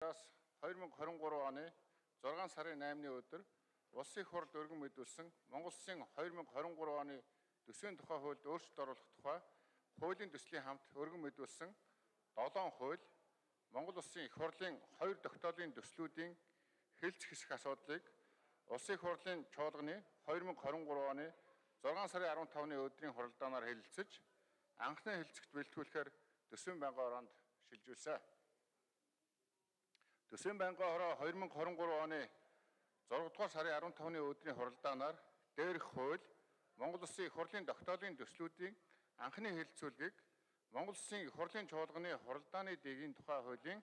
дараагаас 2023 оны 6 сарын 8-ны өдөр Улсын их хурлд өргөн мэдүүлсэн Монгол Улсын 2023 оны төсвийн тухай хуульд өөрчлөлт оруулах тухай хуулийн төслийн хамт өргөн мэдүүлсэн 7 хууль Монгол Улсын их хурлын 2 тогтоолын төслүүдийн хэлц хэсэх асуудлыг Улсын их хурлын чуулганы 2023 оны 6 сарын 15-ны өдрийн хуралдаанаар хэлэлцэж анхны хэлцэгт бэлтгүүлэхээр төсвийн байнгын ороонд шилжүүлсэн. Төсвийн байнгын ороо 2023 оны 6 дугаар сарын 15-ны өдрийн хуралдаанаар дээрх хууль Монгол Улсын их хурлын тогтоолын төслүүдийн анхны хэлэлцүүлгийг Монгол Улсын их хурлын чуулганы хуралдааны дэгийн тухай хуулийн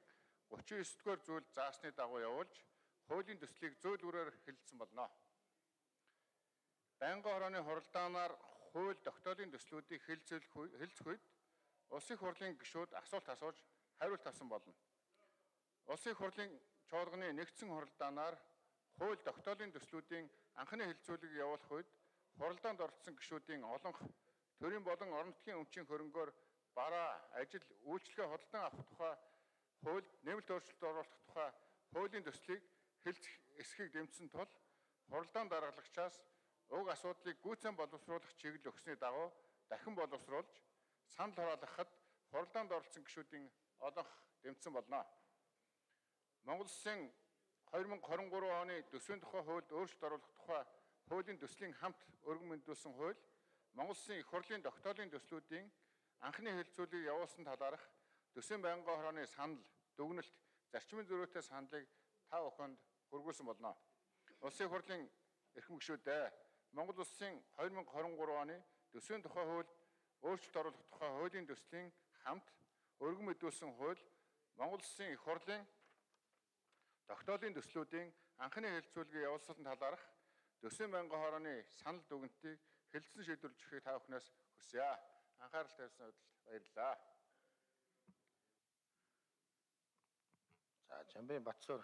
39-р зүйл заасны дагуу явуулж хуулийн төслийг зөөлрөөр хэлэлцсэн болно. Байнгын орооны хуралдаанаар хууль тогтоолын төслүүдийг хэлэлцэх үед Улсын их хурлын гишүүд асуулт асууж хариулт авсан болно. Улсын их хурлын чуулганы нэгдсэн хуралдаанаар хууль тогтоолын төслүүдийн анхны хэлэлцүүлгийг явуулах үед хуралдаанд оролцсон гишүүдийн олонх төрийн болон орон нутгийн өмчийн хөрөнгөөр бараа, ажил, үйлчлэгээ худалдан авах тухай хуульд нэмэлт өөрчлөлт оруулах тухай хуулийн төслийг хэлцэх эсхийг дэмжсэн тул хуралдаан даргалагчаас уг асуудлыг гүйцэн боловсруулах чиглэл өгсөний дагуу дахин боловсруулж санал хураалгахад хуралдаанд оролцсон гишүүдийн олонх дэмжсэн болно. Монгол Улсын 2023 оны төсвийн тухай хуульд өөрчлөлт оруулах тухай хуулийн төслийн хамт өргөн мэдүүлсэн хууль Монгол Улсын их хурлын тогтоолын төслүүдийн анхны хэлэлцүүлгийг явуулсан талаарх төсвийн байнгын орооны санал, дүгнэлт, зарчмын зөрүүтэй саналыг та бүхэнд хүргүүлсэн болно. Улсын их хурлын эрхэм гишүүдээ Монгол Улсын 2023 оны төсвийн тухай хуульд өөрчлөлт оруулах тухай хуулийн төслийн хамт өргөн мэдүүлсэн хууль Монгол Улсын их хурлын тогтоолын төслүүдийн анхны хэлэлцүүлгийг явуулсан талаарх төсвийн байнгын орооны санал дүгнэлтийг хэлэлцэн шийдвэрлэж өгөхийг та бүхнээс хүсье. Анхаарал тавьсан хувьд баярлалаа. За, Жамбын Батсуур